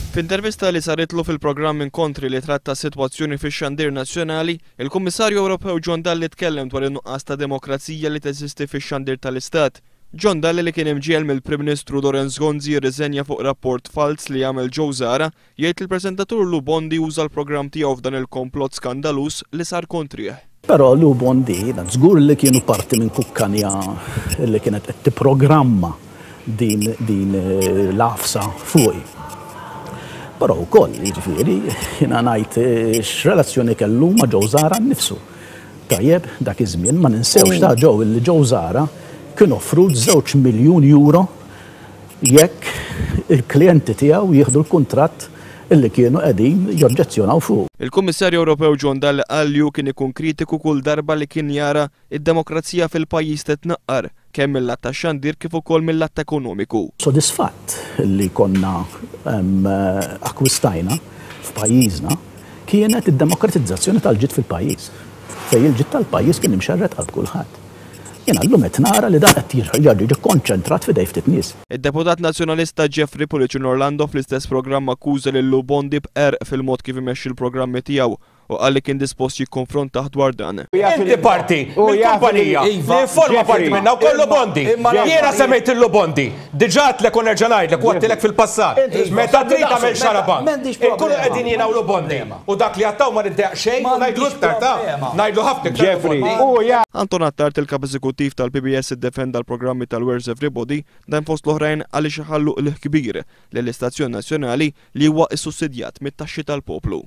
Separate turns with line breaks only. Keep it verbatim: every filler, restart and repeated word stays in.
F'intervista li saritlu fil-programm Inkontri li tratta s-sitwazzjoni fix-xandir nazzjonali, il-Kummissarju Ewropew John Dalli tkellem dwar in-nuqqas ta' demokrazija li teżisti fix-xandir tal-Istat. John Dalli, li kien imġiegħel mill-Prim Ministru Lawrence Gonzi jirriżenja fuq rapport fals li għamel Joe Zahra, jgħid il-preżentatur Lou Bondi uża l-programm tiegħu f'dan il-komplott skandaluż li sar kontrih.
Però Lou Bondi, żgur li kienu parti minn kukkanja li kienet qed tipprogramma din, din l-għafsa fuqi. Però wkoll, jiġifieri, jiena ngħid x'relazzjoni kellu ma' Joe Zahra nnifsu. Tajjeb, dak iż-żmien ma ninsewx ta' Joe li Joe Zahra kien offrut żewġ miljun euro jekk il-klijenti tiegħu jieħdu l-kuntratt illi kienu qegħdin joġġezzjonaw fuq.
Il-Kummissarju Ewropew John Dalli qal li hu kien ikun kritiku kull darba li kien jara id-demokrazija fil-pajjiż titnaqqar, kemm mill-lat tax-xandir kif ukoll mill-lat ekonomiku.
Sodisfatt li konna akkwistajna f'pajjiżna kienet id-demokratizzazzjoni tal-ġid fil-pajjiż, fejn il-ġid tal-pajjiż kien imxerred għal kulħadd. Jiena llum qed nara li dan qed jerġa' jiġi konċentrat f'idej ftit nies.
Id-deputat nazzjonalista Jeffrey Pullicino Orlando fl-istess programm akkuża lil Lou Bondi b'qerq fil-mod kif imexxi l-programmi tiegħu u qal li kien dispost jikkonfrontah dwar dan.
Inti parti mill-kumpanija li forma parti minna u kollu Bondi. Jiena semmejt il Bondi. Diġà għedtlek u nerġa' ngħidlek u għedtilek fil-passat. Meta trid tagħmel xarabank, inkunu qegħdin jiena u Lou Bondi. U dak li għattaw ma niddejjaq xejn u ngħidlu iktar ta' ngħidlu ħafna iktar.
Jeffrey, u ja.
Anton Attard, il-kap eżekuttiv tal-P B S, iddefenda l-programmi tal-Where's Everybody, dan fost l-oħrajn għaliex iħallu qligħ kbir lill-istazzjon nazzjonali li huwa issussidjat mit-taxxi tal-poplu.